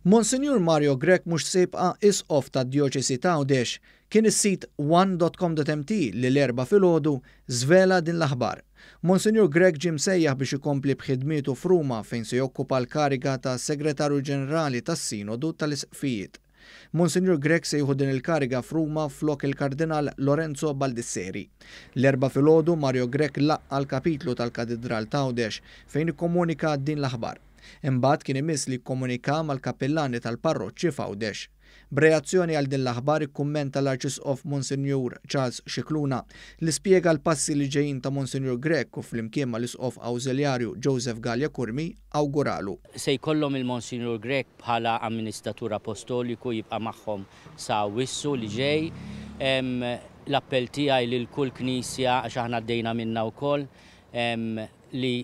Monsinjur Mario Grech mhux se jibqa' Isqof tad-Djoċesi t'Għawdex. Kien is-sit one dot com dot mt li l-Erbgħa filgħodu żvela din l-aħbar. Monsinjur Grech ġie msejjaħ biex ikompli b'ħidmietu f'Ruma fejn se jokkupa l-kariga ta' Segretarju Ġenerali tas-Sinodu tal-Isqfijiet. Monsinjur Grech se jieħu din il-kariga f'Ruma flok il-Kardinal Lorenzo Baldisseri. L-Erbgħa filgħodu Mario Grech laqqa' l-Kapitlu tal-Katidral t'Għawdex fejn ikkomunika din l-aħbar. Imbagħad kien imiss li jikkomunika mal-kappillani tal-parroċċi f'Għawdex. B'reazzjoni għal din l-aħbar ikkummenta l-Arċisqof Monsinjur Charles Scicluna li spjega l-passi li ġejjin ta' Monsinjur Grech u flimkien mal-Isqof Awżiljarju Joseph Galea Curmi awguralu. Se jkollhom il-Monsinjur Grech bħala Amministratur Apostoliku jibqa' magħhom sa Awwissu li ġej. L-appell tiegħi lil kull Knisja, għax aħna għaddejna minnha wkoll, li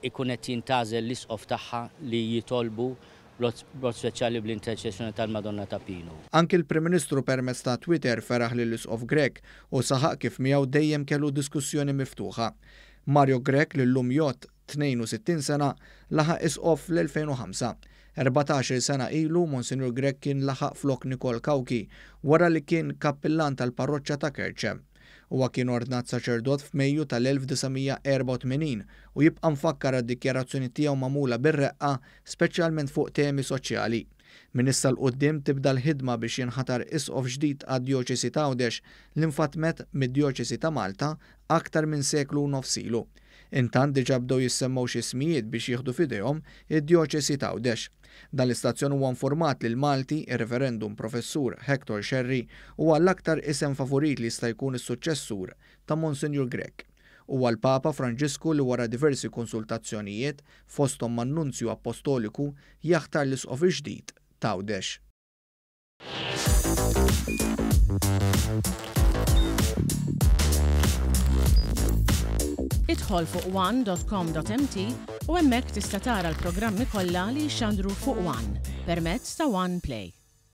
ikun qed jintgħażel l-Isqof tagħha li jitolbu b'mod speċjali bl-interċessjoni tal-Madonna ta' Pinu. Anki l-Prim Ministru permezz ta' Twitter feraħ lill-Isqof Grech u saħaq kif miegħu dejjem kellu diskussjoni miftuħa. Mario Grech li llum jgħodd 62 sena laħaq Isqof fl-2005. 14-il sena ilu Monsinjur Grech kien laħaq flok Nikol Cauchi wara li kien kappillan tal-parroċċa ta' Kerċem. Huwa kien ordnat saċerdot f'Mejju tal-1984 u jibqa' mfakkar għad-dikjarazzjoni tiegħu magħmula bir-reqqa speċjalment fuq temi soċjali. Minn issa 'l quddiem tibda l-ħidma biex jinħatar isqof ġdid għad-Djoċesi t'Għawdex li nfatmet mid-Djoċesi ta' Malta aktar minn seklu u nofs ilu. Intant diġà bdew jissemmew xi ismijiet biex jieħdu f'idejhom id-Djoċesi t'Għawdex. Dan l-istazzjon huwa informat li l-Malti, ir-Reverendum Professur Hector Scerri, huwa l-aktar isem favorit li jista' jkun is-suċċessur ta' Monsinjur Grech. Huwa l-Papa Franġisku li wara diversi konsultazzjonijiet, fosthom man-Nunzju Appostoliku, jaħtar l-Isqof il-ġdid t'Għawdex. Idħol fuq one.com.mt u hemmhekk tista' tara l-programmi kollha li jixxandru fuq One permezz ta' One Play.